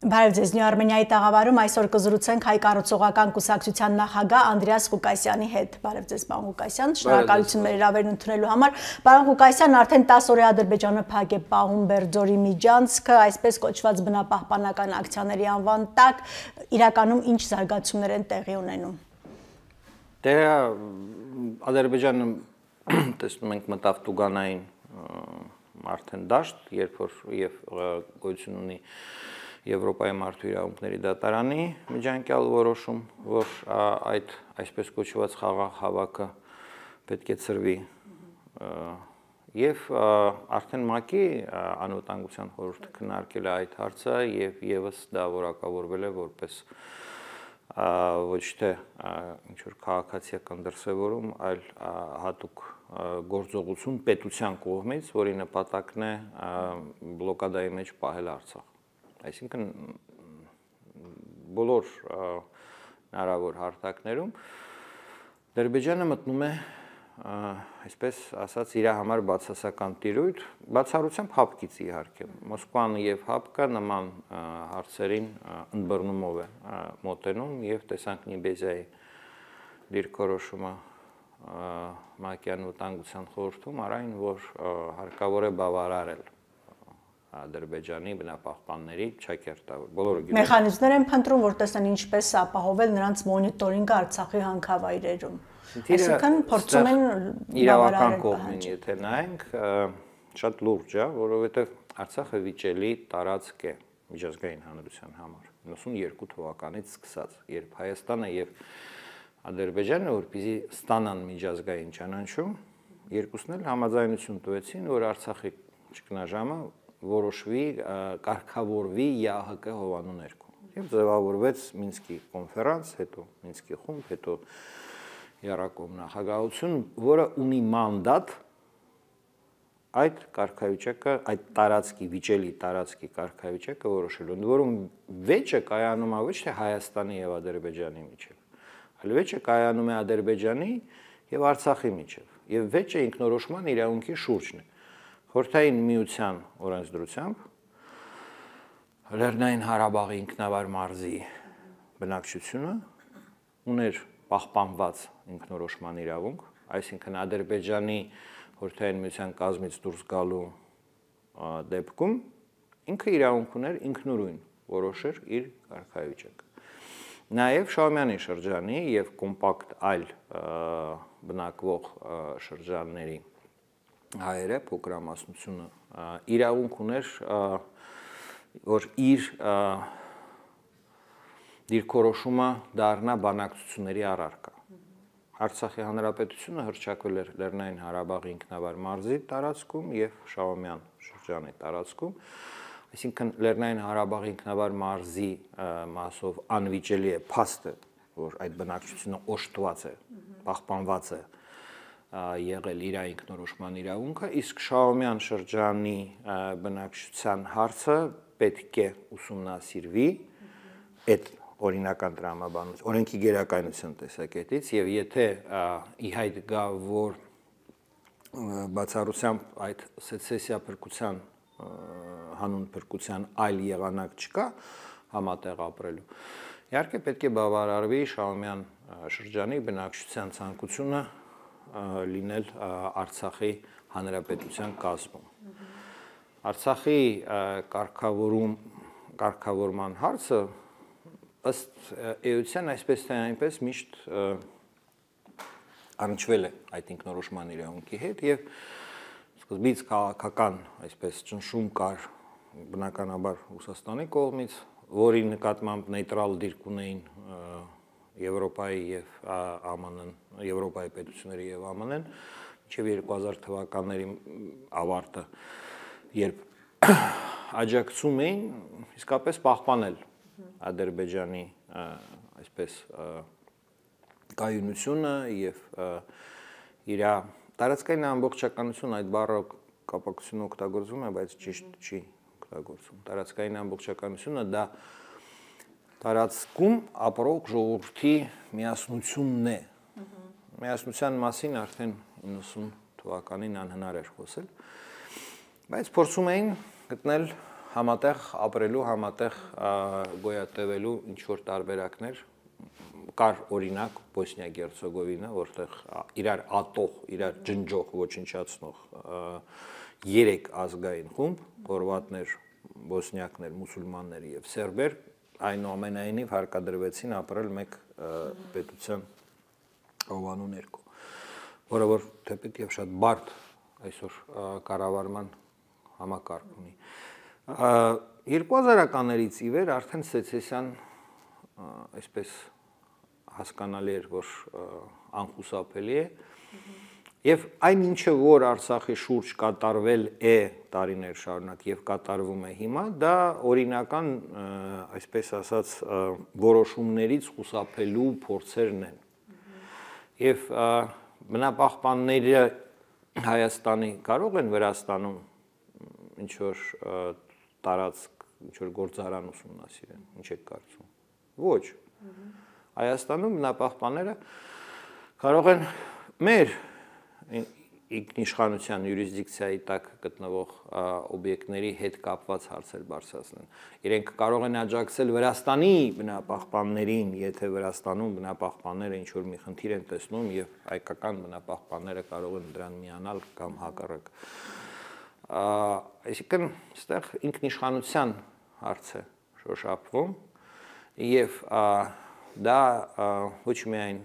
Բարև ձեզ, Արմենիայի տաղավարում այսօր կզրուցենք հայ կառուցողական կուսակցության նախագահ Անդրեաս Ղուկասյանի հետ։ Բարև ձեզ, պարոն Ղուկասյան, շնորհակալություն մեր հրավերն ընդունելու համար։ Պարոն Ղուկասյան, արդեն 10 օր է Ադրբեջանը փակ է պահում Բերձորի միջանցքը, այսպես կոչված բնապահպանական ակցիաների անվան տակ, իրականում ինչ զարգացումներ են տեղի ունենում։ Դե Ադրբեջանը տեսնում ենք մտավ տուգանային արդեն դաշտ, երբ որ եւ գոյություն ունի Եվրոպայի մարդու իրավունքների դատարանի միջանկյալ որոշում, որ այդ այսպես կոչված խաղաղ հավաքը պետք է ծրվի եւ արդեն ՄԱԿ-ի անվտանգության խորհուրդը քննարկել է այդ հարցը եւ եւս դա որակավորվել է որպես ոչ թե ինչ որ քաղաքացիական դրսևորում, այլ հատուկ գործողություն պետության կողմից, որի նպատակն է բլոկադայի մեջ պահել Արցախ։ Այսինքն բոլոր հնարավոր հարթակներում Ադրբեջանը մտնում է այսպես ասած իր համար բացասական տիրույթ, բացառությամբ հապկից իհարկե։ Մոսկվան եւ հապկը նման հարցերին ընդբռնումով է մոտենում եւ տեսանք Նիբեզիայի դիրքորոշումը ՄԱԿ-ի անվտանգության խորհրդում արայն, որ հարկավոր է բավարարել Ադրբեջանի բնապահպանների չակերտավոր բոլորը գիտեն մեխանիզմներ են փնտրում, որ տեսնեն ինչպես ապահովել նրանց մոնիտորինգը Արցախի հանքավայրերում։ Այսինքն փորձում են իրավական կողմին, եթե նայենք, շատ լուրջ է, որովհետև Արցախը վիճելի տարածք է միջազգային հանրության համար 92 թվականից սկսած, երբ Հայաստանը եւ Ադրբեջանը որպեսզի ստանան միջազգային ճանաչում, երկուսն էլ համաձայնություն տվեցին, որ Արցախի ճգնաժամը որոշվի, կարգավորվի ԵԱՀԿ հովանու ներքո։ Եվ ձևավորվեց Մինսկի կոնֆերանս, հետո Մինսկի խումբ, հետո Եռակոմ նախագահություն, որը ունի մանդատ այդ կարգավիճակը, այդ տարածքի վիճելի տարածքի կարգավիճակը որոշելու, ընդ որում վեճը կայանում է ոչ թե Հայաստանի եւ Ադրբեջանի միջեւ, այլ վեճը կայանում է Ադրբեջանի եւ Արցախի միջեւ, եւ վեճը ինքնորոշման իրավունքի շուրջն է։ Խորհրդային միության օրենսդրությամբ Լեռնային Ղարաբաղի ինքնավար մարզի բնակչությունը ուներ պահպանված ինքնորոշման իրավունք, այսինքն Ադրբեջանի խորհրդային միության կազմից դուրս գալու դեպքում ինքը իրավունք ուներ ինքնուրույն որոշեր իր կարգավիճակը։ Նաև Շահումյանի շրջանի եւ կոմպակտ այլ բնակվող շրջանների հայերը փոքրամասնությունը իրավունք ուներ, որ իր դիրքորոշումը դառնա բանակցությունների առարկա։ Արցախի հանրապետությունը հռչակվել էր Լեռնային Ղարաբաղի ինքնավար մարզի տարածքում եւ Շահումյան շրջանի տարածքում, այսինքն Լեռնային Ղարաբաղի ինքնավար մարզի մասով անվիճելի է փաստը, որ այդ բնակչությունը օժտված է, պահպանված է եղել իր ինքնորոշման իրավունքը, իսկ Շահումյան շրջանի բնակչության հարցը պետք է ուսումնասիրվի այդ օրինական տրամաբանություն, օրենքի գերակայնության տեսակետից, եւ եթե ի հայտ գա, որ բացառությամբ այդ սեցեսիա փրկության հանուն փրկության այլ եղանակ չկա համատեղ ապրելու, իհարկե պետք է բավարարվի Շահումյան շրջանի բնակչության ցանկությունը լինել Արցախի հանրապետության կազմում։ Արցախի կարգավորման հարցը ըստ էության այսպես թե այնպես միշտ առնչվել է այդ ինքնորոշման իրավունքի հետ եւ սկզբից քաղաքական այսպես ճնշում կար բնականաբար Ռուսաստանի կողմից, որի նկատմամբ նեյտրալ դիրք ունեին Եվրոպայի եւ ԱՄՆ-ն, Եվրոպայի պետությունների եւ ԱՄՆ-ն, մինչեւ 2000 թվականների ավարտը, երբ աջակցում էին իսկապես պահպանել Ադրբեջանի այսպես կայունությունը եւ իր տարածքային ամբողջականություն այդ բառը կապակցությունը օգտագործվում է, բայց ճիշտ չի օգտագործվում։ Տարածքային ամբողջականությունը դա տարածքում ապրող ժողովրդի միասնությունն է։ Միասնության մասին արդեն 90 թվականին անհնար էր խոսել, բայց փորձում էին գտնել համատեղ ապրելու, համատեղ գոյատևելու ինչ որ տարբերակներ կար օրինակ Բոսնիա-Գերցեգովինա, որտեղ իրար ատող, իրար ջնջող, ոչնչացնող 3 ազգային խումբ, խորվատներ, բոսնիակներ, մուսուլմաններ եւ սերբեր, այնուամենայնիվ հարկադրվեցին ապրել մեկ պետության հովանու ներքո, որը որ թեպետ եւ շատ բարդ այսօր կառավարման համակարգ ունի։ 2000-ականներից ի վեր արդեն սեցեսիան այսպես հասկանալի էր, որ անխուսափելի է, եւ այն ինչը որ Արցախի շուրջ կատարվել է տարիներ շարունակ եւ կատարվում է հիմա, դա օրինական, այսպես ասած, որոշումներից խուսափելու փորձերն են։ Եվ բնապահպանները Հայաստանի կարող են Վրաստանում ինչ որ տարածք, ինչ որ գործարան ուսումնասիրեն, ինչ եք կարծում։ Ոչ։ Հայաստանում բնապահպանները կարող են մեր ինքնիշխանության յուրիսդիկցիայի տակ գտնվող օբյեկտների հետ կապված հարցեր բարձրացնեն։ Իրենք կարող են աջակցել Վրաստանի բնապահպաններին, եթե Վրաստանում բնապահպանները ինչ որ մի խնդիր են տեսնում եւ հայկական բնապահպանները կարող են դրան միանալ կամ հակառակ։ Այսինքն, այստեղ ինքնիշխանության հարց է շոշափվում եւ դա ոչ միայն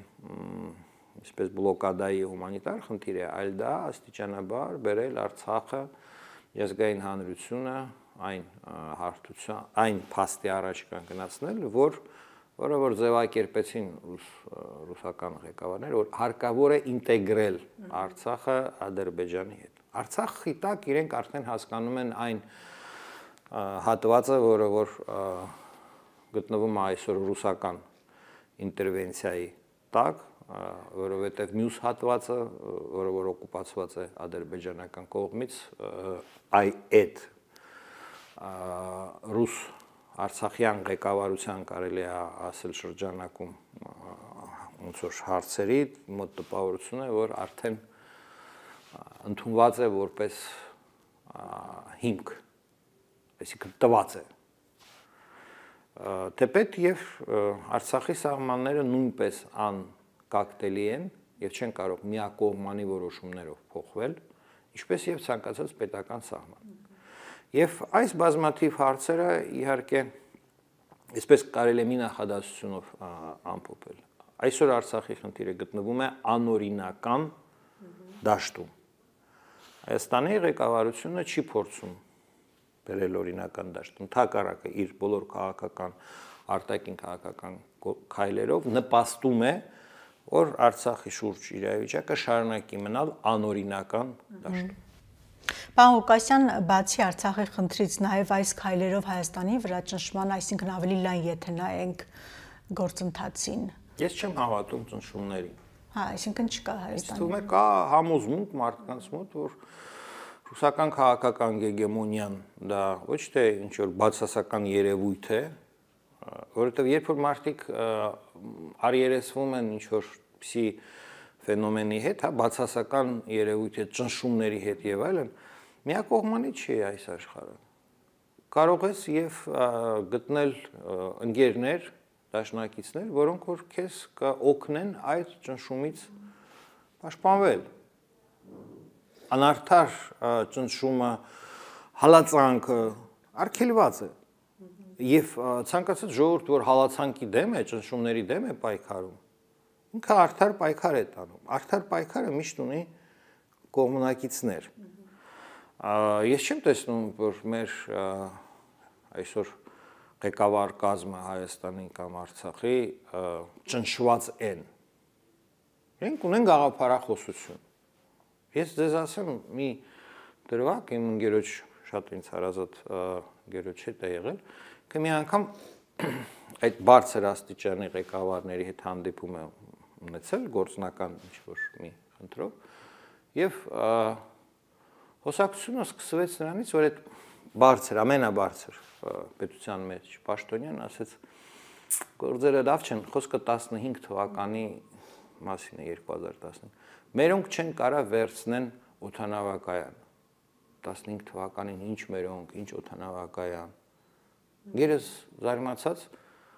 այսպես բլոկադայի հումանիտար խնդիր է, այլ դա աստիճանաբար բերել Արցախը ազգային հանրությունը այն հարթության, այն փաստի առաջ կանգնացնել, որը որ ձևակերպեցին ռուսական ղեկավարները, որ հարկավոր է ինտեգրել Արցախը Ադրբեջանի հետ։ Արցախի տակ իրենք արդեն հասկանում են այն հատվածը, որը որ գտնվում է այսօր ռուսական ինտերվենցիայի տակ, որովհետև մյուս հատվածը, որը որ օկուպացված է ադրբեջանական կողմից, այդ ռուս արցախյան ղեկավարության կարելի է ասել շրջանակում ոնց որ հարցերի մոտ տպավորություն է, որ արդեն ընդունված է որպես հիմք, այսինքն տված է։ Թեպետ եւ Արցախի սահմանները նույնպես անկակտելի են եւ չեն կարող միակողմանի որոշումներով փոխվել, ինչպես եւ ցանկացած պետական սահման։ Եվ այս բազմաթիվ հարցերը իհարկե այսպես կարելի է մի նախադասությունով ամփոփել։ Այսօր Արցախի խնդիրը գտնվում է անօրինական դաշտում։ Հայաստանի ղեկավարությունը չի փորձում բերել օրինական դաշտ, ընդհակառակը իր բոլոր քաղաքական, արտաքին քաղաքական քայլերով նպաստում է, որ Արցախի շուրջ իրավիճակը շարունակի մնալ անօրինական դաշտում։ Պարոն Ղուկասյան, բացի Արցախի խնդրից, նաև այս քայլերով Հայաստանի վրա ճնշման, այսինքն ավելի լայն եթե նայենք գործընթացին։ Ես չեմ հավատում ճնշումներին։ Հա, այսինքն չկա Հայաստանում։ Ինձ թվում է կա համոզմունք մարդկանց մոտ, որ ռուսական քաղաքական գեգեմոնիան դա ոչ թե ինչ որ բացասական երևույթ է, որովհետև երբ որ մարդիկ արիերեսվում են ինչ որ պսի ֆենոմենի հետ, հա, բացասական երևույթ է, ճնշումների հետ եւ այլն, միակողմանի չի այս աշխարհը։ Կարող ես եւ գտնել ընկերներ, դաշնակիցներ, որոնք որ քեզ կօգնեն այդ ճնշումից պաշտպանվել։ Անարդար ճնշումը, հալածանքը արգելված է։ Եվ ցանկացած ժողովուրդ, որ հալածանքի դեմ է, ճնշումների դեմ է պայքարում, ինքը արդար պայքար է տանում։ Արդար պայքարը միշտ ունի կողմնակիցներ։ Ես չեմ տեսնում, որ մեր այսօր ղեկավար կազմը Հայաստանի կամ Արցախի ճնշված են։ Իրենք ունեն գաղափարախոսություն։ Ես ձեզ ասեմ մի դրվագ, իմ ընկերոջ շատ ինձ հարազատ ընկերոջ հետ է եղել, că մի անգամ այդ բարձր աստիճանի ղեկավարների հետ հանդիպում է ունեցել գործնական ինչ-որ մի խնդրով եւ հոսակցությունը սկսվեց նրանից, որ այդ բարձր, ամենաբարձր պետության մեջ պաշտոնյան ասեց գործերը լավ չեն, խոսքը 15 թվականի մասին է 2015 մերոնք չեն կարա վերցնեն օդանավակայան 15 թվականին ինչ մերոնք, ինչ օդանավակայան։ Գերս զարմացած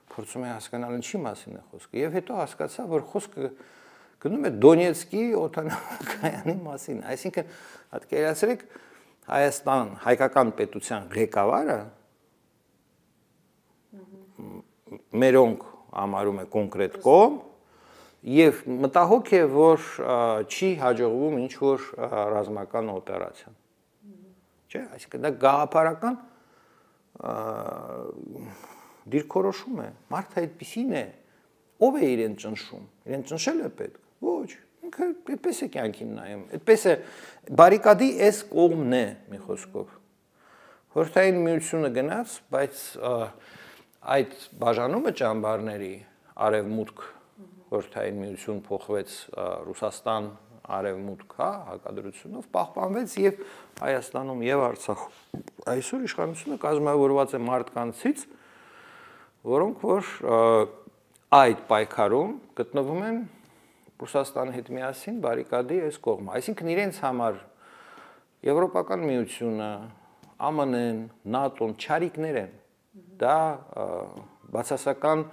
փորձում է հասկանալ ինչի մասին է խոսքը եւ հետո հասկացա, որ խոսքը գնում է Դոնեցկի օդանավակայանի մասին, այսինքն պատկերացրեք Հայաստան հայկական պետության ղեկավարը մերոնք համարում է կոնկրետ կողմ եւ մտահոգ է, որ չի հաջողվում ինչ որ ռազմական օպերացիա։ Չէ, այսինքն դա գաղափարական դիրքորոշում է։ Մարդը այդպեսին է, ով է իրեն ճնշում։ Իրեն ճնշել է պետք։ Ոչ, ինքը այդպես է կյանքին նայում։ Այդպես է բարիկադի այս կողմն է, մի խոսքով։ Խորհրդային միությունը գնաց, բայց այդ բաժանումը ճամբարների արևմուտք Խորհրդային միություն փոխվեց Ռուսաստան արևմուտք, հա, հակադրությունով պահպանվեց եւ Հայաստանում եւ Արցախում այսօր իշխանությունը կազմավորված է մարդկանցից, որոնք որ այդ պայքարում գտնվում են Ռուսաստանի հետ միասին բարիկադի այս կողմը, այսինքն իրենց համար Եվրոպական միությունը, ԱՄՆ-ն, ՆԱՏՕ-ն չարիքներ են, դա բացասական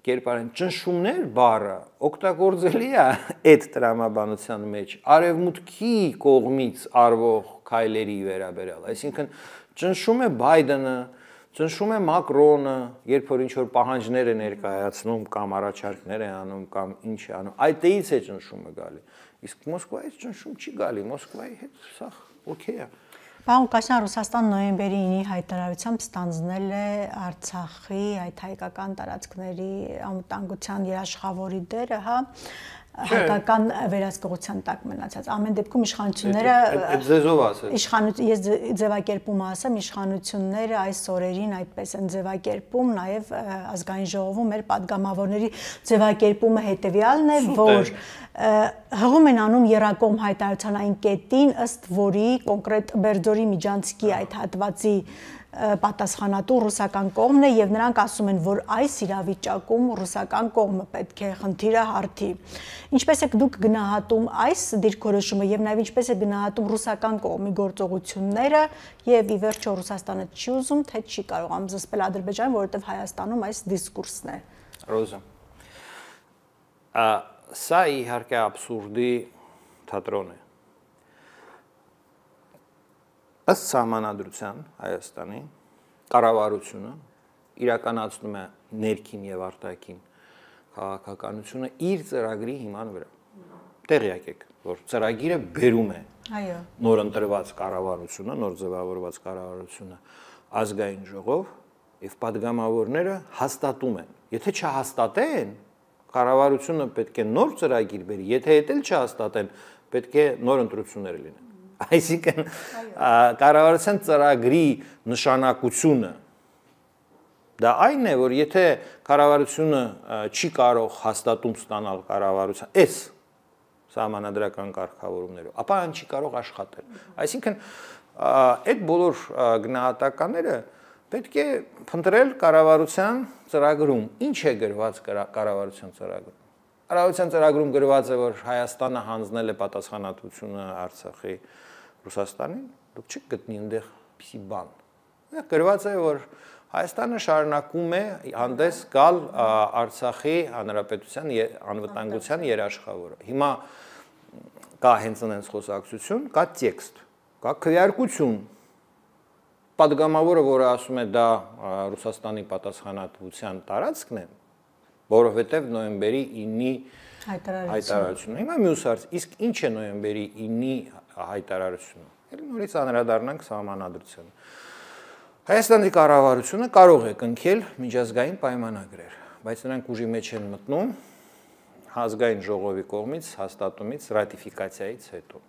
կերպարեն ճնշումներ բառը օգտագործելի է այդ տրամաբանության մեջ արևմուտքի կողմից արվող քայլերի վերաբերյալ, այսինքն ճնշում է Բայդենը, ճնշում է Մակրոնը, երբ որ ինչ որ պահանջներ է ներկայացնում կամ առաջարկներ է անում կամ ինչ է անում, այդտեղից է ճնշումը գալի, իսկ Մոսկվայից ճնշում չի գալի, Մոսկվայի հետ սա օքեյ է։ Պարոն Ղուկասյան, Ռուսաստան նոյեմբերի 9-ի հայտարարությամբ ստանձնել է Արցախի այդ հայկական տարածքների անվտանգության երաշխավորի դերը, հա, հայկական վերահսկողության տակ մնացած։ Ամեն դեպքում իշխանությունները այդ ձեզով ասել։ Ես ձևակերպումը ասեմ, իշխանությունները այս օրերին այդպես են ձևակերպում, նաև ազգային ժողովում մեր падգամավորների ձևակերպումը հետևյալն է, որ հղում են անում երակողմ հայտարարության այն կետին, ըստ որի կոնկրետ Բերձորի Միջանցքի այդ հատվածի պատասխանատու ռուսական կողմն է եւ նրանք ասում են, որ այս իրավիճակում ռուսական կողմը պետք է խնդիրը հարթի։ Ինչպես եք դուք գնահատում այս դիրքորոշումը եւ նաեւ ինչպես է գնահատում ռուսական կողմի գործողությունները եւ ի վերջո Ռուսաստանը չի ուզում, թե չի կարողանում զսպել Ադրբեջանը, որովհետեւ Հայաստանում այս դիսկուրսն է։ Ռոզա։ Սա իհարկե աբսուրդի թատրոն է։ Ըստ սահմանադրության Հայաստանի կառավարությունը իրականացնում է ներքին եւ արտաքին քաղաքականությունը իր ծրագրի հիման վրա։ Տեղյակ եք, որ ծրագիրը բերում է նոր ընտրված կառավարությունը, նոր ձևավորված կառավարությունը ազգային ժողով եւ падգամավորները հաստատում են։ Եթե չհաստատեն, կառավարությունը պետք է նոր ծրագիր բերի, եթե դա չհաստատեն, պետք է նոր ընտրություններ լինեն։ Այսինքն կառավարության ծրագրի նշանակությունը դա այն է, որ եթե կառավարությունը չի կարող հաստատում ստանալ կառավարության այս սահմանադրական կարգավորումներով, ապա այն չի կարող աշխատել։ Այսինքն այդ բոլոր գնահատականները պետք է փնտրել կառավարության ծրագրում։ Ինչ է գրված կառավարության ծրագրում։ Կառավարության ծրագրում գրված է, որ Հայաստանը հանձնել է պատասխանատվությունը Արցախի Ռուսաստանին, դուք չեք գտնի այնտեղ պիսի բան։ Դա գրված է, որ Հայաստանը շարունակում է հանդես գալ Արցախի հանրապետության անվտանգության երաշխավորը։ Հիմա կա հենց այնպես խոսակցություն, կա տեքստ, կա քվեարկություն։ Պատգամավորը, որը ասում է դա Ռուսաստանի պատասխանատվության տարածքն է, որովհետև նոյեմբերի 9-ի հայտարարությունը։ Հիմա մյուս հարց, իսկ ինչ է նոյեմբերի 9-ի հայտարարությունը։ Էլ նորից անդրադառնանք սահմանադրությանը։ Հայաստանի կառավարությունը կարող է կնքել միջազգային պայմանագրեր, բայց նրանք ուժի մեջ են մտնում ազգային ժողովի կողմից հաստատումից ռատիֆիկացիայից հետո։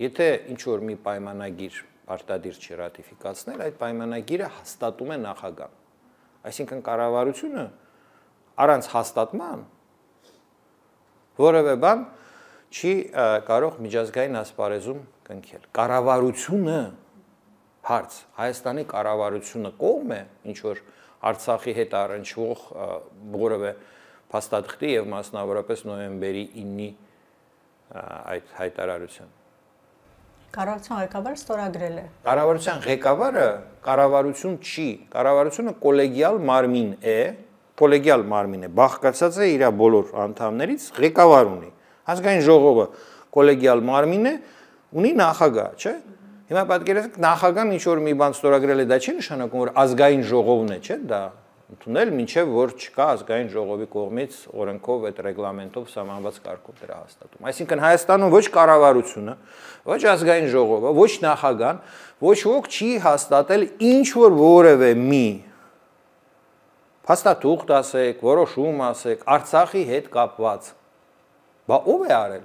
Եթե ինչ որ մի պայմանագիր պարտադիր չի ռատիֆիկացնել, այդ պայմանագիրը հաստատում է նախագահան։ Այսինքն կառավարությունը առանց հաստատման որևէ բան չի կարող միջազգային ասպարեզում կնքել։ Կառավարությունը հարց, Հայաստանի կառավարությունը կողմ է ինչ որ Արցախի հետ առնչվող որևէ փաստաթղթի եւ մասնավորապես նոյեմբերի 9-ի այդ հայտարարության։ Կառավարության ղեկավարը ստորագրել է։ Կառավարության ղեկավարը կառավարություն չի, կառավարությունը կոլեգիալ մարմին է, բաղկացած է իր բոլոր անդամներից, ղեկավար ունի։ Ազգային ժողովը կոլեգիալ մարմին է, ունի նախագահ, չէ՞։ Հիմա պատկերացրեք, նախագահան ինչ որ մի բան ստորագրել է, դա չի նշանակում, որ ազգային ժողովն է, չէ՞, դա ընդունել, մինչև որ չկա ազգային ժողովի կողմից օրենքով այդ ռեգլամենտով սահմանված կարգով դրա հաստատում։ Այսինքն Հայաստանում ոչ կառավարությունը, ոչ ազգային ժողովը, ոչ նախագահան, ոչ ոք չի հաստատել ինչ որ որևէ մի փաստաթուղթ ասեք, որոշում ասեք, Արցախի հետ կապված։ Բա ով է արել։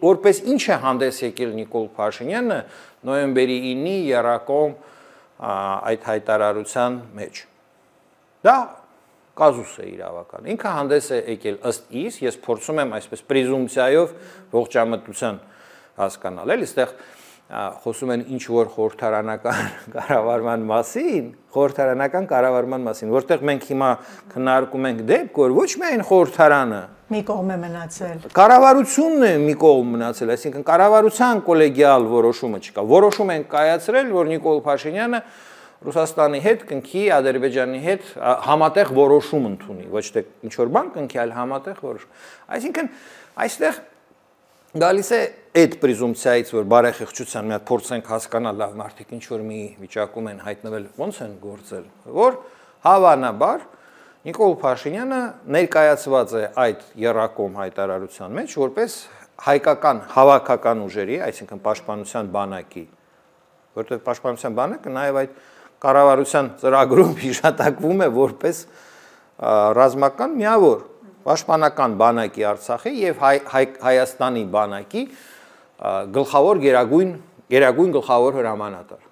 Որպես ինչ է հանդես եկել Նիկոլ Փաշինյանը նոյեմբերի 9-ի եռակողմ այդ հայտարարության մեջ։ Դա կազուս է իրավական։ Ինքը հանդես է եկել ըստ իս, ես փորձում եմ այսպես պրեզումպցիայով ողջամտության հասկանալ, էլի, այստեղ խոսում են ինչ որ խորհրդարանական կառավարման մասին, որտեղ մենք հիմա քննարկում ենք դեպք, որ ոչ միայն խորհրդարանը մի կողմ է մնացել։ Կառավարությունն է մի կողմ մնացել, այսինքն կառավարության կոլեգիալ որոշումը չկա։ Որոշում են կայացրել, որ Նիկոլ Փաշինյանը Ռուսաստանի հետ կնքի, Ադրբեջանի հետ համատեղ որոշում ընդունի, ոչ թե ինչ որ բան կնքի, այլ համատեղ որոշում։ Այսինքն այստեղ գալիս է այդ պրեզումպցիայից, որ բարեխիղճության մի հատ փորձենք հասկանալ, լավ, մարդիկ ինչ որ մի վիճակում են հայտնվել, ոնց են գործել, որ հավանաբար Նիկոլ Փաշինյանը ներկայացված է այդ եռակողմ հայտարարության մեջ որպես հայկական հավաքական ուժերի, այսինքն պաշտպանության բանակի, որտեղ պաշտպանության բանակը նաև այդ կառավարության ծրագրում հիշատակվում է որպես ռազմական միավոր, պաշտպանական բանակի Արցախի եւ Հայաստանի բանակի գլխավոր գերագույն գլխավոր հրամանատար։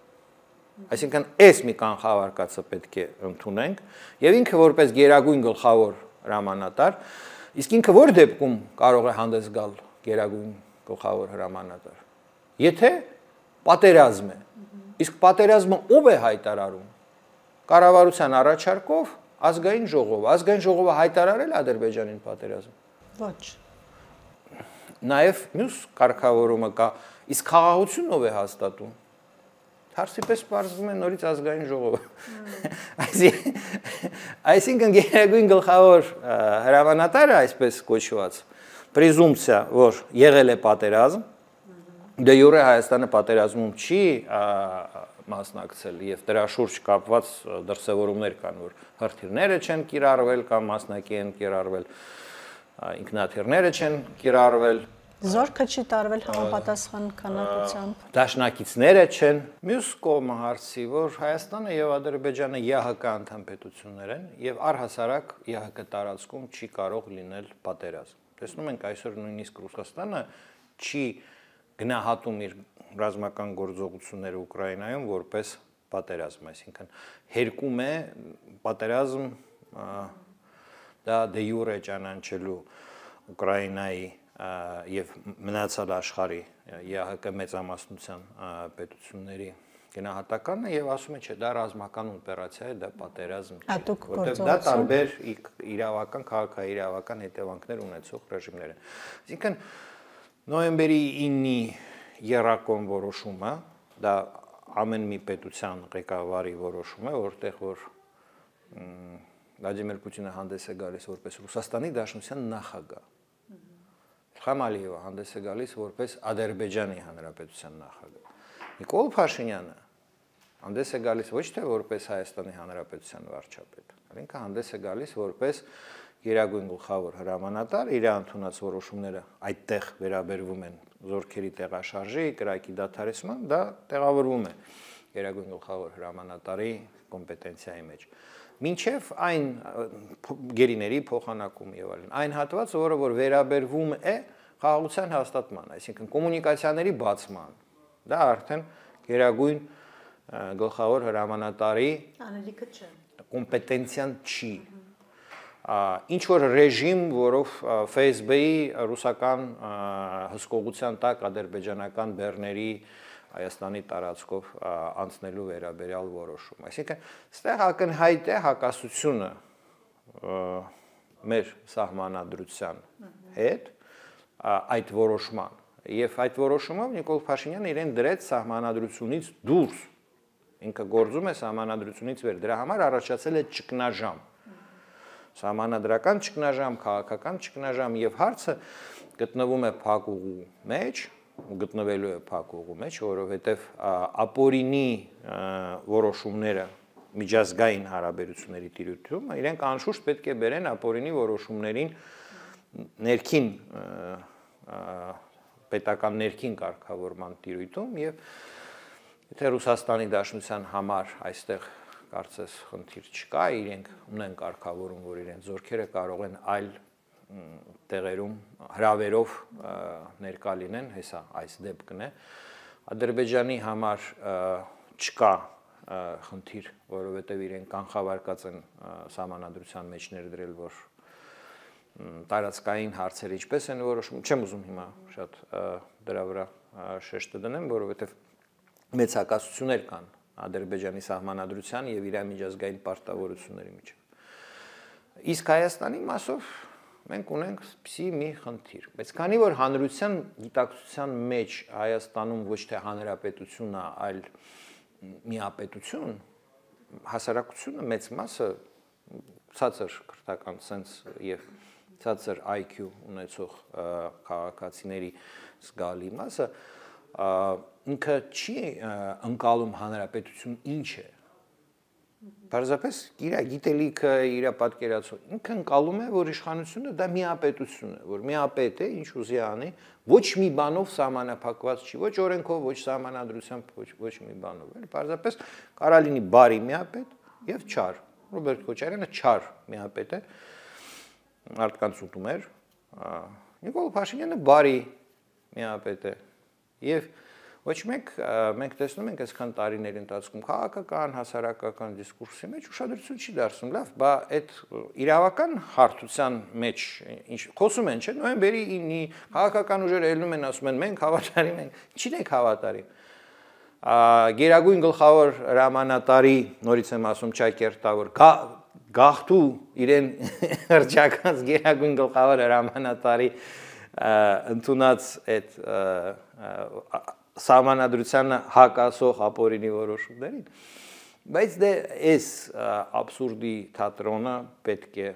Այսինքն այս մի կանխավարկածը պետք է ընդունենք եւ ինքը որպես գերագույն գլխավոր հրամանատար, իսկ ինքը որ դեպքում կարող է հանդես գալ գերագույն գլխավոր հրամանատար։ Եթե պատերազմ է, իսկ պատերազմը ով է հայտարարում։ Կառավարության առաջարկով ազգային ժողովը հայտարարել Ադրբեջանին պատերազմ։ Ոչ։ Նաեւ մյուս կարգավորումը կա, իսկ խաղաղությունն ով է հաստատում։ Հարցի պես պարզվում է նորից ազգային ժողովը։ Այսինքն գերագույն գլխավոր հրամանատարը, այսպես կոչված, պրեզումպցիա, որ եղել է պատերազմ, դե յուրե Հայաստանը պատերազմում չի մասնակցել եւ դրա շուրջ կապված դրսևորումներ կան, որ հրթիռները չեն կիրառվել կամ մասնակի են կիրառվել, ինքնաթիռները չեն կիրառվել, Զորքը չի տարվել համապատասխան քանակությամբ։ Դաշնակիցները չեն։ Մյուս կողմը հարցի, որ Հայաստանը եւ Ադրբեջանը ԵՀԿ անդամ պետություններ են եւ առհասարակ ԵՀԿ տարածքում չի կարող լինել պատերազմ։ Տեսնում ենք այսօր նույնիսկ Ռուսաստանը չի գնահատում իր ռազմական գործողությունները Ուկրաինայում որպես պատերազմ, այսինքն հերկում է պատերազմ դա դե յուրե ճանաչելու Ուկրաինայի եւ մնացած աշխարհի ԵՀԿ մեծամասնության պետությունների գնահատականը եւ ասում է, չէ, դա ռազմական օպերացիա է, դա պատերազմ չէ, որտեղ դա տարբեր իրավական, քաղաքաիրավական հետևանքներ ունեցող ռեժիմներ են։ Այսինքն նոյեմբերի 9-ի եռակողմ որոշումը, դա ամեն մի պետության ղեկավարի որոշում է, որտեղ որ Վլադիմիր Պուտինը հանդես է գալիս որպես Ռուսաստանի Դաշնության նախագահ։ Իլհամ Ալիևը հանդես է գալիս որպես Ադրբեջանի Հանրապետության նախագահ։ Նիկոլ Փաշինյանը հանդես է գալիս ոչ թե որպես Հայաստանի Հանրապետության վարչապետ, այլ ինքը հանդես է գալիս որպես գերագույն գլխավոր հրամանատար, իր ընդունած որոշումները այդտեղ վերաբերվում են զորքերի տեղաշարժի, կրակի դադարեցման, դա տեղավորվում է գերագույն գլխավոր հրամանատարի կոմպետենցիայի մեջ։ Մինչև այն գերիների փոխանակում եւ այլն, այն հատվածը, որը որ վերաբերվում է խաղաղության հաստատման, այսինքն կոմունիկացիաների բացման, դա արդեն գերագույն գլխավոր հրամանատարի անելիքը չէ, կոմպետենցիան չի։ Ինչ որ ռեժիմ, որով ՖՍԲ-ի ռուսական հսկողության տակ ադրբեջանական բեռների Հայաստանի տարածքով անցնելու վերաբերյալ որոշում։ Այսինքն, ստեղ ակնհայտ է հակասությունը մեր սահմանադրության հետ այդ որոշման, Եվ այդ որոշումով Նիկոլ Փաշինյանը իրեն դրեց սահմանադրությունից դուրս։ Ինքը գործում է սահմանադրությունից վեր։ Դրա համար առաջացել է ճգնաժամ։ Սահմանադրական ճգնաժամ, քաղաքական ճգնաժամ եւ հարցը գտնվում է փակ ուղու մեջ, գտնվելու է փակ ուղու մեջ, որովհետեւ ապօրինի որոշումները միջազգային հարաբերությունների տիրույթում իրենք անշուշտ պետք է բերեն ապօրինի որոշումներին ներքին պետական ներքին կարգավորման տիրույթում եւ եթե Ռուսաստանի Դաշնության համար այստեղ կարծես խնդիր չկա, իրենք ունեն կարգավորում, որ իրենց զորքերը կարող են այլ տեղերում հրավերով ներկա լինեն, հեսա այս դեպքն է։ Ադրբեջանի համար չկա խնդիր, որովհետև իրենք կանխավարկած են սահմանադրության մեջ ներդրել, որ տարածքային հարցերը ինչպես են որոշում, չեմ ուզում հիմա շատ դրա վրա շեշտը դնեմ, որովհետև մեծ հակասություններ կան Ադրբեջանի սահմանադրության եւ իր միջազգային պարտավորությունների միջեւ։ Իսկ Հայաստանի մասով մենք ունենք սպիսի մի խնդիր, բայց քանի որ հանրության գիտակցության մեջ Հայաստանում ոչ թե հանրապետությունն է, այլ միապետություն, հասարակությունը մեծ մասը ցածր քրթական սենս եւ ցածր IQ ունեցող քաղաքացիների զգալի մասը ինքը չի ընկալում հանրապետություն ինչ է։ Պարզապես իր գիտելիքը, իր պատկերացումը ինքը ընկալում է, որ իշխանությունը դա միապետություն է, որ միապետ է, ինչ ուզի անի, ոչ մի բանով սահմանափակված չի, ոչ օրենքով, ոչ սահմանադրությամբ, ոչ մի բանով։ Պարզապես կարա լինի բարի միապետ եւ չար։ Ռոբերտ Քոչարյանը չար միապետ է, մարդկանց ուտում էր, Նիկոլ Փաշինյանը բարի միապետ է եւ ոչ մենք տեսնում ենք այսքան տարիների ընթացքում քաղաքական, հասարակական դիսկուրսի մեջ ուշադրություն չի դարձնում, լավ, բա այդ իրավական հարթության մեջ ինչ խոսում են, չէ՞, նոյեմբերի 9-ի քաղաքական ուժերը ելնում են, ասում են մենք հավատարիմ ենք, ինչին եք հավատարիմ։ Գերագույն գլխավոր հրամանատարի, նորից եմ ասում Չակերտավոր, գաղթու իրեն հրճակած գերագույն գլխավոր հրամանատարի ընդունած այդ սահմանադրությանը հակասող ապօրինի որոշումներին, բայց դե այս աբսուրդի թատրոնը պետք է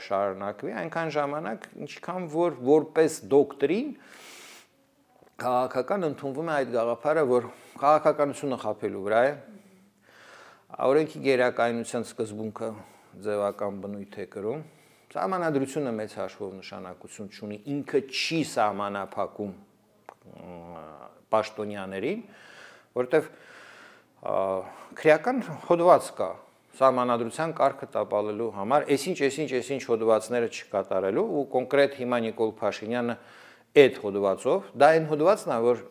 շարունակվի այնքան ժամանակ, ինչքան որ որպես դոկտրին քաղաքական ընդունվում է այդ գաղափարը, որ քաղաքականությունը խաբելու վրա է, օրենքի գերակայունության սկզբունքը ձևական բնույթ է կրում, սահմանադրությունը մեծ հաշվով նշանակություն չունի, ինքը չի սահմանափակում պաշտոնյաներին, որտեվ քրեական հոդված կա սահմանադրության կարգը տապալելու համար, այսինչ հոդվածները չկատարելու ու կոնկրետ հիմա Նիկոլ Փաշինյանը այդ հոդվածով, դա այն հոդվածն է, որ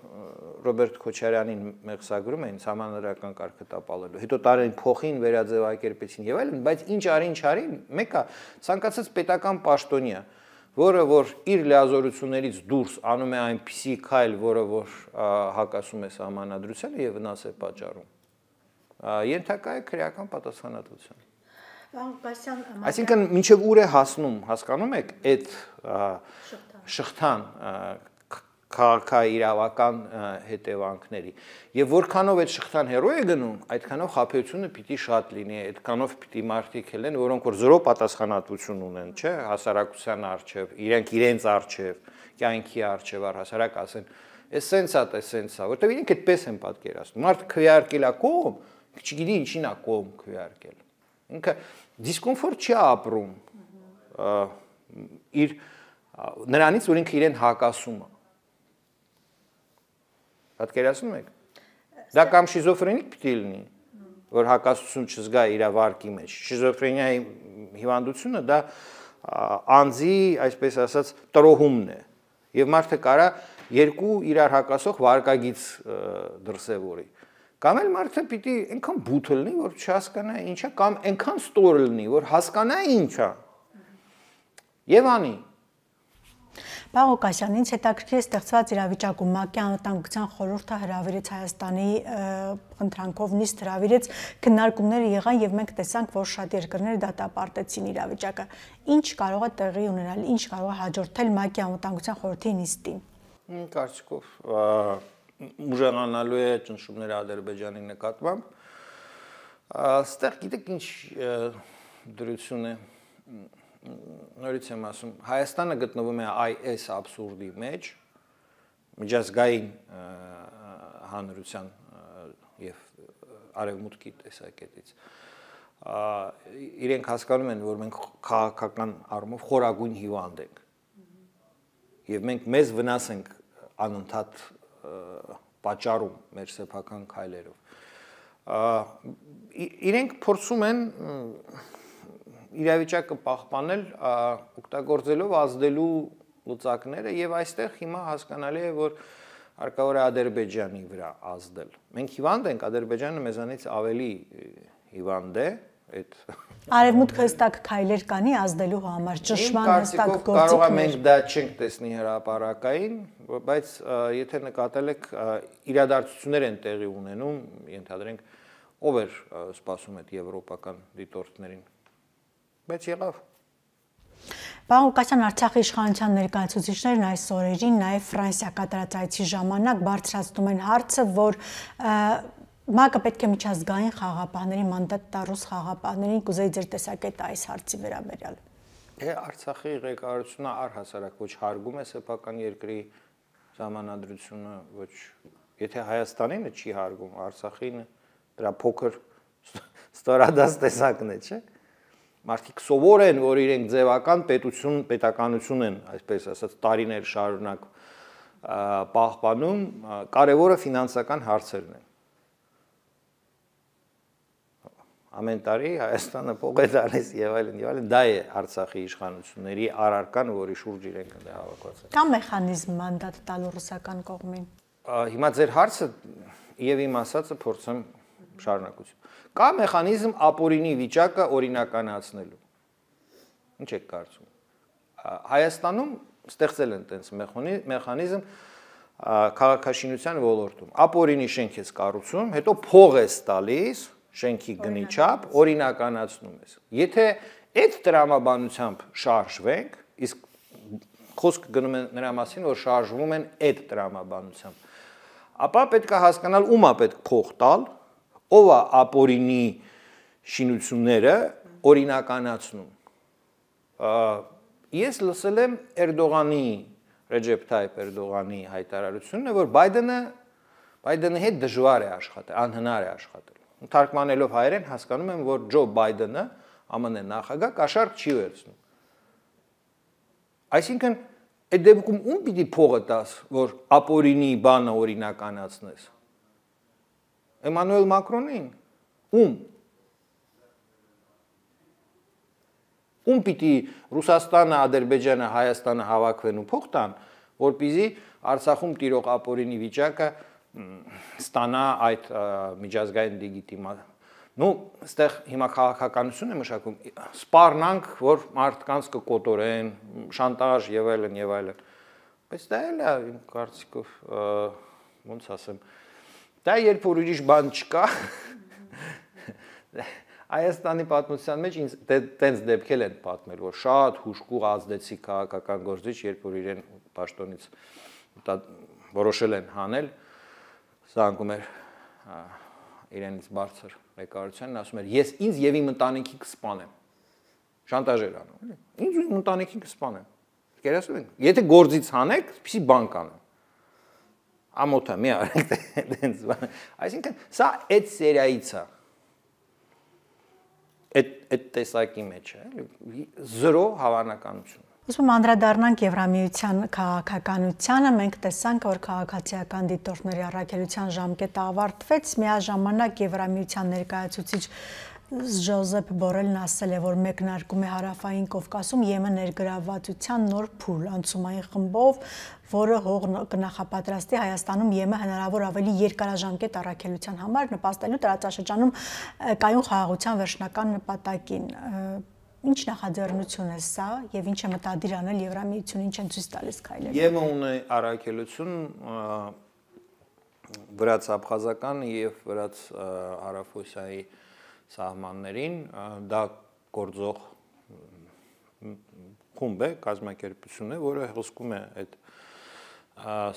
Ռոբերտ Քոչարյանին մեղսագրում էին սահմանադրական կարգը տապալելու, հետո տարին փոխին վերաձևակերպեցին եւ այլն, բայց ինչ արին, մեկը ցանկացած պետական պաշտոնյա, որը որ իր լիազորություններից դուրս անում է այնպիսի քայլ, որը որ հակասում է սահմանադրությանը եւ վնաս է պատճառում, ենթակա է քրեական պատասխանատվության։ Այսինքն մինչև ուր է հասնում, հասկանում եք, այդ շղթան քաղաքաիրավական հետևանքների եւ որքանով այդ շղթան հեռու է գնում, այդքանով խաբեությունը պիտի շատ լինի, այդքանով պիտի մարդիկ ելեն, որոնք որ զրո պատասխանատվություն ունեն, չէ, հասարակության առջև, իրենց առջև, կյանքի առջև, առհասարակ ասեն, էս սենսա, որտեւ իրենք այդպես են պատկերացնում։ Մարդ քվեարկել է կողմ, չգիտի ինչին է կողմ քվեարկել։ Ինքը դիսկոմֆորտ չի ապրում իր նրանից, որ ինքը իրեն հակասում է։ Պատկերացնում եք։ Դա կամ շիզոֆրենիկ պիտի լինի, որ հակասություն չզգա իր վարկի մեջ։ Շիզոֆրենիայի հիվանդությունը դա անձի, այսպես ասած, տրոհումն է։ Եվ մարդը կարա երկու իրար հակասող վարկագիծ դրսևորի։ Կամ էլ մարդը պիտի այնքան բութ լինի, որ չհասկանա ինչա, կամ այնքան ստոր լինի, որ հասկանա ինչա։ Եվ անի։ Պարոն Ղուկասյան, ինձ հետաքրքիր է ստեղծված իրավիճակում ՄԱԿ-ի անվտանգության խորհուրդը հրավիրեց Հայաստանի ընտրանքով նիստ հրավիրեց, քննարկումները եղան եւ մենք տեսանք, որ շատ երկրներ դատապարտեցին իրավիճակը։ Ինչ կարող է տեղի ունենալ, ինչ կարող է հաջորդել ՄԱԿ-ի անվտանգության խորհրդի նիստին։ Կարծիքով ուժեղանալու է ճնշումները Ադրբեջանի նկատմամբ։ Այստեղ գիտեք ինչ դրություն է, նորից եմ ասում, Հայաստանը գտնվում է այս աբսուրդի մեջ, միջազգային հանրության եւ արևմուտքի տեսակետից։ Իրենք հասկանում են, որ մենք քաղաքական առումով խորագույն հիվանդ ենք։ Եվ մենք մեզ վնաս ենք անընդհատ պատճառում մեր սեփական քայլերով։ Իրենք փորձում են իրավիճակը պահպանել, օգտագործելով ազդելու լուծակները եւ այստեղ հիմա հասկանալի է, որ հարկավոր է Ադրբեջանի վրա ազդել։ Մենք հիվանդ ենք, Ադրբեջանը մեզանից ավելի հիվանդ է, այդ Արևմուտքը հստակ քայլեր կանի ազդելու համար, ճնշման հստակ գործիքներ։ Կարող է մենք դա չենք տեսնի հրապարակային, բայց եթե նկատել եք իրադարձություններ են տեղի ունենում, ենթադրենք ով էր սպասում այդ եվրոպական դիտորդներին։ Բայց եղավ։ Պարոն Ղուկասյան, Արցախի իշխանության ներկայացուցիչներն այս օրերին նաև Ֆրանսիա կատարած այցի ժամանակ բարձրացնում են հարցը, որ ՄԱԿ-ը պետք է միջազգային խաղապահների մանդատ տա ռուս խաղապահներին, կուզեի ձեր տեսակետը այս հարցի վերաբերյալ։ Արցախի ղեկավարությունը առհասարակ ոչ հարգում է սեփական երկրի ժամանադրությունը, ոչ եթե Հայաստանինը չի հարգում, Արցախին դրա փոքր ստորադաս տեսակն է, չէ՞։ Մարդիկ սովոր են, որ իրենք ձևական պետականություն են, այսպես ասած, տարիներ շարունակ պահպանում, կարևորը ֆինանսական հարցերն են։ Ամեն տարի Հայաստանը փող է տալիս եւ այլն, դա է Արցախի իշխանությունների առարկան, որի շուրջ իրենք դա հավաքված են։ Կա մեխանիզմ մանդատ տալու ռուսական կողմին։ Հիմա ձեր հարցը եւ իմ ասածը փորձեմ շարունակություն։ Կա մեխանիզմ ապօրինի վիճակը օրինականացնելու։ Ինչ եք կարծում։ Հայաստանում ստեղծել են տենց մեխանիզմ քաղաքաշինության ոլորտում։ Ապօրինի շենք ես կառուցում, հետո փող ես տալիս շենքի գնի չափ օրինականացնում ես։ Եթե այդ տրամաբանությամբ շարժվենք, իսկ խոսքը գնում է նրա մասին, որ շարժվում են այդ տրամաբանությամբ, ապա պետք է հասկանալ ում է պետք փող տալ, ով է ապօրինի շինությունները օրինականացնում։ Ես լսել եմ Էրդողանի, Ռեջեփ Թայիփ Էրդողանի հայտարարությունը, որ Բայդենի հետ դժվար է աշխատել, անհնար է աշխատել։ Թարգմանելով հայերեն հասկանում եմ, որ Ջո Բայդենը, ԱՄՆ նախագահ, կաշառք չի վերցնում։ Այսինքն, այդ դեպքում ում պիտի փողը տաս, որ ապօրինի բանը օրինականացնես։ Էմանուել Մակրոնին։ Ում։ Ում պիտի Ռուսաստանը, Ադրբեջանը, Հայաստանը հավաքվեն ու փող տան, որպեսզի Արցախում տիրող ապօրինի վիճակը ստանա այդ միջազգային լեգիտիմացիա։ Այստեղ հիմա քաղաքականություն է մշակում, սպառնանք, որ մարդկանց կկոտորեն, շանտաժ եւ այլն եւ այլն։ Բայց դա էլ է իմ կարծիքով, ոնց ասեմ, դա երբ որ ուրիշ բան չկա, Հայաստանի պատմության մեջ ինձ տենց դեպքեր են պատմել, որ շատ հուժկուղ ազդեցիկ քաղաքական գործիչ, երբ որ իրեն պաշտոնից որոշել են հանել, զանգում էր իրենից բարձր ղեկավարությանն, ասում էր, ես ինձ եւ իմ ընտանիքի կսպանեմ։ Շանտաժեր անում, էլի։ Ինձ ու իմ ընտանիքին կսպանեմ։ Գերասու են։ Եթե գործից հանեք, պիսի բան կանեմ։ Ամոթա մի արեք տենց բան։ Այսինքն, սա այդ սերիայից է։ Այդ տեսակի մեջ է, էլի։ Զրո հավանականություն։ Ուսում անդրադառնանք Եվրամիության քաղաքականությանը, մենք տեսանք, որ քաղաքացիական դիտորդների առաքելության ժամկետը ավարտվեց, միաժամանակ Եվրամիության ներկայացուցիչ Ժոզեփ Բորելն ասել է, որ մեկնարկում է Հարավային Կովկասում ԵՄ ներգրավվածության նոր փուլ անցումային խմբով, որը հող կնախապատրաստի Հայաստանում ԵՄ հնարավոր ավելի երկարաժամկետ առաքելության համար, նպաստելու տարածաշրջանում կայուն խաղաղության վերջնական նպատակին։ Ինչ նախաձեռնություն է սա եւ ինչ է մտադիր անել Եվրամիությունը, ինչ են ցույց տալիս քայլերը։ ԵՄ ունի առաքելություն վրաց-աբխազական եւ վրաց-հարավօսիայի սահմաններին, դա գործող խումբ է, կազմակերպություն է, որը հսկում է այդ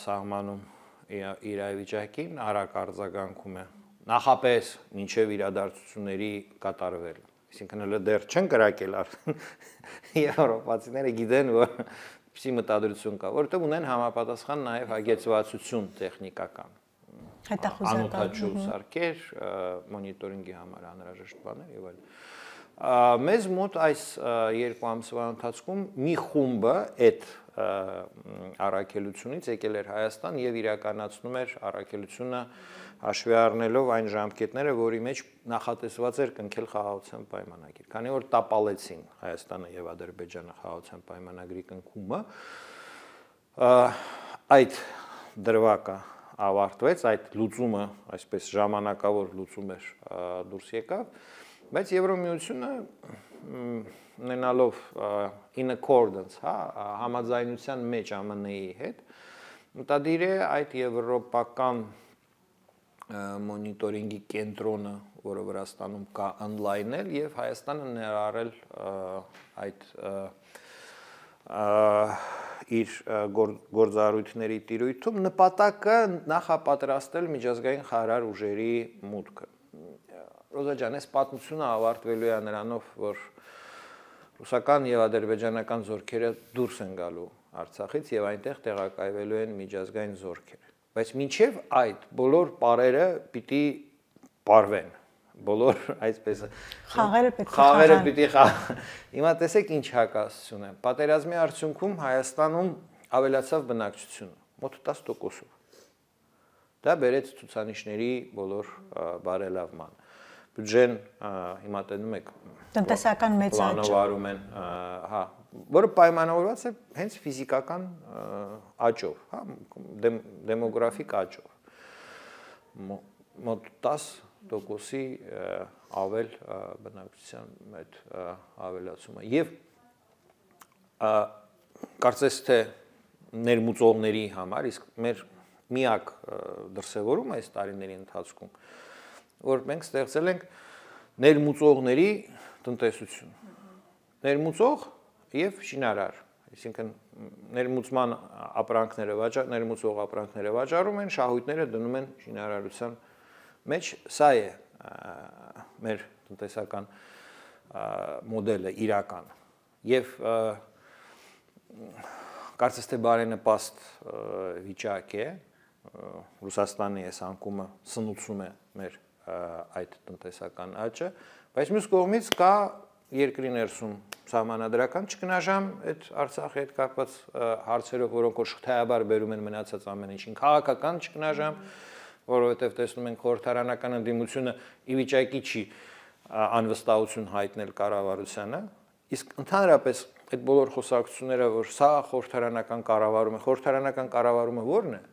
սահմանում իրավիճակին, արագ արձագանքում է նախապես մինչև իրադարձությունների կատարվելը։ Այսինքն հələ դեռ չեն կրակել արդեն եվրոպացիները գիտեն, որ պիսի մտադրություն կա, որովհետև ունեն համապատասխան նաև հագեցվածություն տեխնիկական։ Անօթաչու սարքեր, մոնիտորինգի համար անհրաժեշտ բաներ եւ այլն։ Մեզ մոտ այս 2 ամսվա ընթացքում մի խումբը այդ առաքելությունից եկել էր Հայաստան եւ իրականացնում էր առաքելությունը հաշվի առնելով այն ժամկետները, որի մեջ նախատեսված էր կնքել խաղաղության պայմանագիր։ Քանի որ տապալեցին Հայաստանը եւ Ադրբեջանը խաղաղության պայմանագրի կնքումը, այդ դրվագը ավարտվեց, այդ լուծումը, այսպես ժամանակավոր լուծում էր դուրս եկավ, բայց Եվրոմիությունը ունենալով in accordance, համաձայնության մեջ ԱՄՆ-ի հետ, մտադիր է այդ եվրոպական մոնիտորինգի կենտրոնը, որը Վրաստանում կա, on-line-ել եւ Հայաստանը ներառել այդ իր գործառույթների տիրույթում նպատակը նախապատրաստել միջազգային խաղաղ ուժերի մուտքը։ Ռոզա ջան, այս պատմությունը ավարտվելու է նրանով, որ ռուսական եւ ադրբեջանական զորքերը դուրս են գալու Արցախից եւ այնտեղ տեղակայվելու են միջազգային զորքեր։ Բայց մինչև այդ բոլոր պարերը պիտի պարվեն, բոլոր այսպես խաղերը պիտի Հիմա տեսեք ինչ հակասություն է։ Պատերազմի արդյունքում Հայաստանում ավելացավ բնակչությունը, մոտ 10%-ով։ Դա բերեց ցուցանիշների բոլոր բարելավման։ Բյուջեն հիմա տենում եք տնտեսական մեծ աճ պլանավորում են, որը պայմանավորված է հենց ֆիզիկական աճով, դեմոգրաֆիկ աճով։ Մոտ 10%-ի ավել բնակչության այդ ավելացումը։ Եվ կարծես թե ներմուծողների համար, իսկ մեր միակ դրսևորումը այս տարիների ընթացքում, որ մենք ստեղծել ենք ներմուծողների տնտեսություն։ Ներմուծող եւ շինարար, այսինքն ներմուծման ներմուծող ապրանքները վաճառում են, շահույթները դնում են շինարարության մեջ, սա է մեր տնտեսական մոդելը իրական։ Եվ կարծես թե բարենպաստ վիճակ է, Ռուսաստանի այս անկումը սնուցում է մեր այդ տնտեսական աճը, բայց մյուս կողմից կա երկրի ներսում սահմանադրական ճգնաժամ այդ Արցախի հետ կապված հարցերով, որոնք որ շղթայաբար բերում են մնացած ամեն ինչին, քաղաքական ճգնաժամ, որովհետև տեսնում ենք խորհրդարանական ընդդիմությունը ի վիճակի չի անվստահություն հայտնել կառավարությանը, իսկ ընդհանրապես այդ բոլոր խոսակցությունները, որ սա խորհրդարանական կառավարում է, խորհրդարանական կառավարումը ո՞րն է։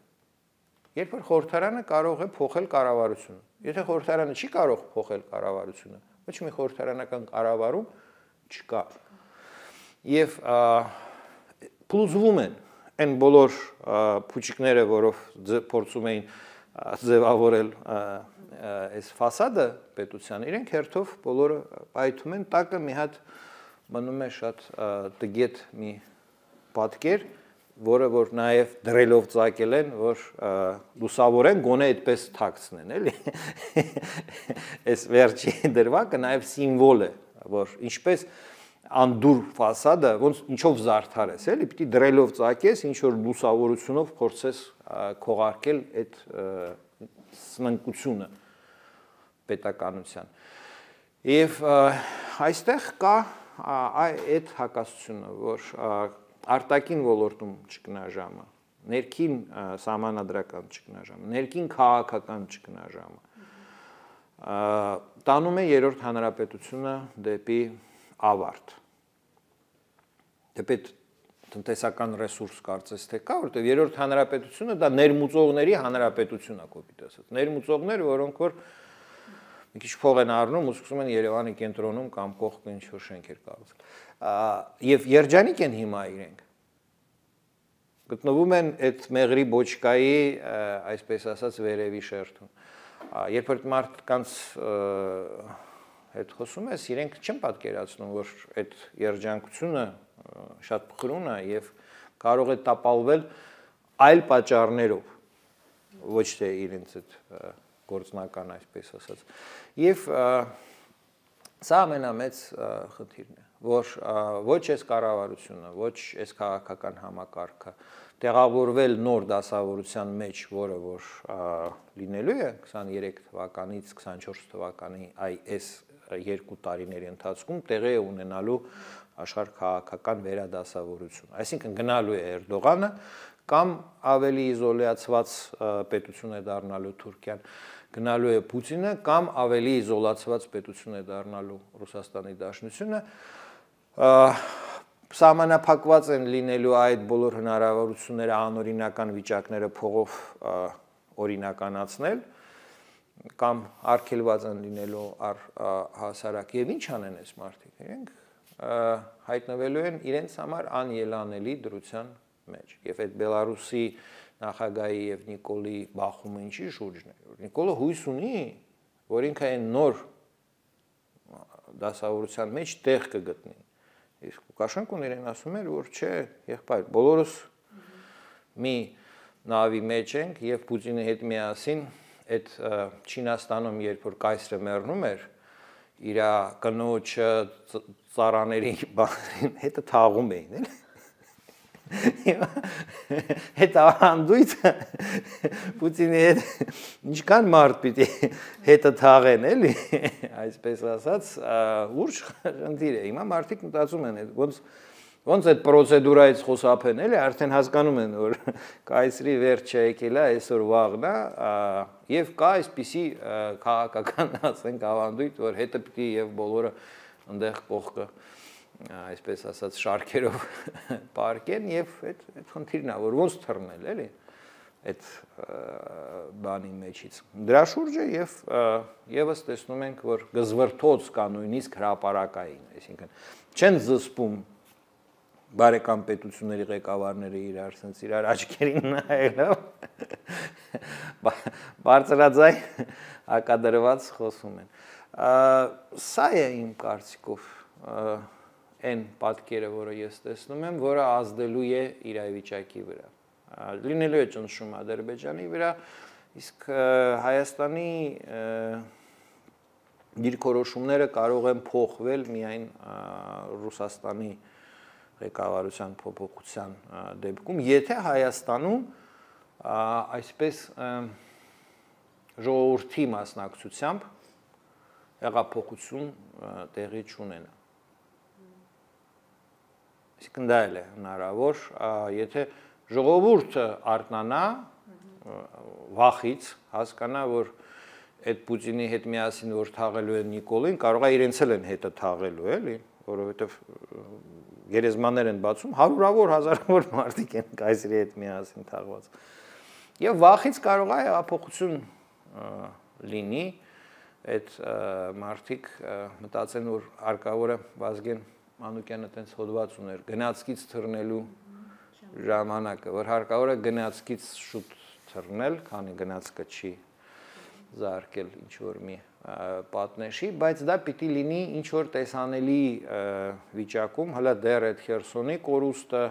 Երբ որ խորհրդարանը կարող է փոխել կառավարությունը։ Եթե խորհրդարանը չի կարող փոխել կառավարությունը, ոչ մի խորհրդարանական կառավարում չկա։ Եւ փլուզվում են այն բոլոր փուչիկները, որով փորձում էին ձևավորել այս ֆասադը պետության, իրենք հերթով բոլորը պայթում են, տակը մի հատ մնում է շատ տգետ մի պատկեր, որը որ նաև դրելով ծակել են, որ լուսավորեն, գոնե այդպես թաքցնեն, էլի։ Այս վերջի դրվագը նաև սիմվոլ է, որ ինչպես անդուր ֆասադը, ոնց ինչով զարդարես, էլի, պիտի դրելով ծակես, ինչ որ լուսավորությունով փորձես քողարկել այդ սնանկությունը պետականության։ Եվ այստեղ կա այդ հակասությունը, որ արտաքին ոլորտում ճգնաժամը, ներքին սահմանադրական ճգնաժամը, ներքին քաղաքական ճգնաժամը տանում է երրորդ հանրապետությունը դեպի ավարտ։ Դեպի տնտեսական ռեսուրս կարծես թե կա, որտեղ երրորդ հանրապետությունը դա ներմուծողների հանրապետություն է, կոպիտ ասած։ Ներմուծողներ, որոնք որ մի քիչ փող են առնում ու սկսում են Երևանի կենտրոնում կամ կողքը ինչ որ շենքեր կառուցել։ Եվ երջանիկ են հիմա իրենք։ Գտնվում են այդ մեղրի բոչկայի, այսպես ասած, վերևի շերտում։ Երբ որ մարդկանց հետ խոսում ես, իրենք չեն պատկերացնում, որ այդ երջանկությունը շատ փխրուն է եւ կարող է տապալվել այլ պատճառներով, ոչ թե իրենց այդ գործնական, այսպես ասած։ Եվ սա ամենամեծ խնդիրն է, որ ոչ այս կառավարությունը, ոչ այս քաղաքական համակարգը տեղավորվել նոր դասավորության մեջ, որը որ լինելու է 23 թվականից 24 թվականի այս 2 տարիների ընթացքում տեղի է ունենալու աշխարհ քաղաքական վերադասավորություն։ Այսինքն գնալու է Էրդողանը կամ ավելի իզոլացված պետություն է դառնալու Թուրքիան, գնալու է Պուտինը կամ ավելի իզոլացված պետություն է դառնալու Ռուսաստանի Դաշնությունը, սահմանափակված են լինելու այդ բոլոր հնարավորությունները անօրինական վիճակները փողով օրինականացնել կամ արգելված են լինելու հասարակ եւ ինչ անեն այս մարդիկ, իրենք հայտնվելու են իրենց համար անելանելի դրության մեջ եւ այդ Բելարուսի նախագահի եւ Նիկոլի բախումը ինչի շուրջն է, որ Նիկոլը հույս ունի, որ ինքը այն նոր դասավորության մեջ տեղ կգտնի։ Իսկ Լուկաշենկոն իրեն ասում էր, որ չէ, եղբայր, բոլորս մի նավի մեջ ենք եւ Պուտինի հետ միասին այդ Չինաստանում, երբ որ կայսրը մեռնում էր, իր կնոջը ծառաների հետը թաղում էին, էլի։ Հետ ավանդույթը Պուտինի հետ ինչքան մարդ պիտի հետը թաղեն, էլի, այսպես ասած, լուրջ խնդիր է։ Հիմա մարդիկ մտածում են, ոնց այդ պրոցեդուրայից խոսափեն, էլի, արդեն հասկանում են, որ կայսրի վերջը եկել է, այսօր վաղն է, եւ կա այսպիսի քաղաքական, ասենք, ավանդույթ, որ հետը պիտի եւ բոլորը այնտեղ կողքը այսպես ասած շարքերով պարկեն եւ այդ խնդիրն է, որ ոնց թռնել, էլի, այդ բանի մեջից։ Դրա շուրջը եւ եւս տեսնում ենք, որ գզվրթոց կա նույնիսկ հրապարակային, այսինքն չեն զսպում բարեկամ պետությունների ղեկավարները իրար աչքերին նայելով բարձրաձայն հակադրված խոսում են։ Սա է իմ կարծիքով այն պատկերը, որը ես տեսնում եմ, որը ազդելու է իրավիճակի վրա։ Լինելու է ճնշում Ադրբեջանի վրա, իսկ Հայաստանի դիրքորոշումները կարող են փոխվել միայն Ռուսաստանի ղեկավարության փոփոխության դեպքում, եթե Հայաստանում այսպես ժողովրդի մասնակցությամբ հեղափոխություն տեղի չունենա։ Այսինքն դա էլ է հնարավոր, եթե ժողովուրդը արթնանա վախից, հասկանա, որ այդ Պուտինի հետ միասին որ թաղելու են Նիկոլին, կարող է իրենց էլ են հետը թաղելու, էլի, որովհետև գերեզմաններ են բացում, հարյուրավոր, հազարավոր մարդիկ են կայսրի հետ միասին թաղված։ Եվ վախից կարող է հեղափոխություն լինի, այդ մարդիկ մտածեն, որ հարկավոր է Վազգեն Մանուկյանը տենց հոդված ուներ գնացքից թռնելու ժամանակը, որ հարկավոր է գնացքից շուտ թռնել, քանի գնացքը չի զարկել ինչ որ մի պատնեշի, բայց դա պիտի լինի ինչ որ տեսանելի վիճակում, հələ դեռ այդ Խերսոնի կորուստը,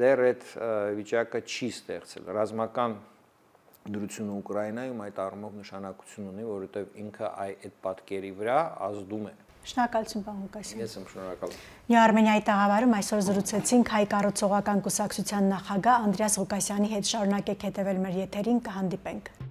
դեռ այդ վիճակը չի ստեղծել։ Ռազմական դրությունը Ուկրաինայում այդ առումով նշանակություն ունի, որովհետև ինքը այդ պատկերի վրա ազդում է։ Շնորհակալություն, պարոն Ղուկասյան։ Ես եմ շնորհակալ։ Արմենիայի տաղավարում այսօր զրուցեցինք Հայ կառուցողական կուսակցության նախագահ Անդրեաս Ղուկասյանի հետ։ Շարունակեք հետևել մեր եթերին, կհանդիպենք։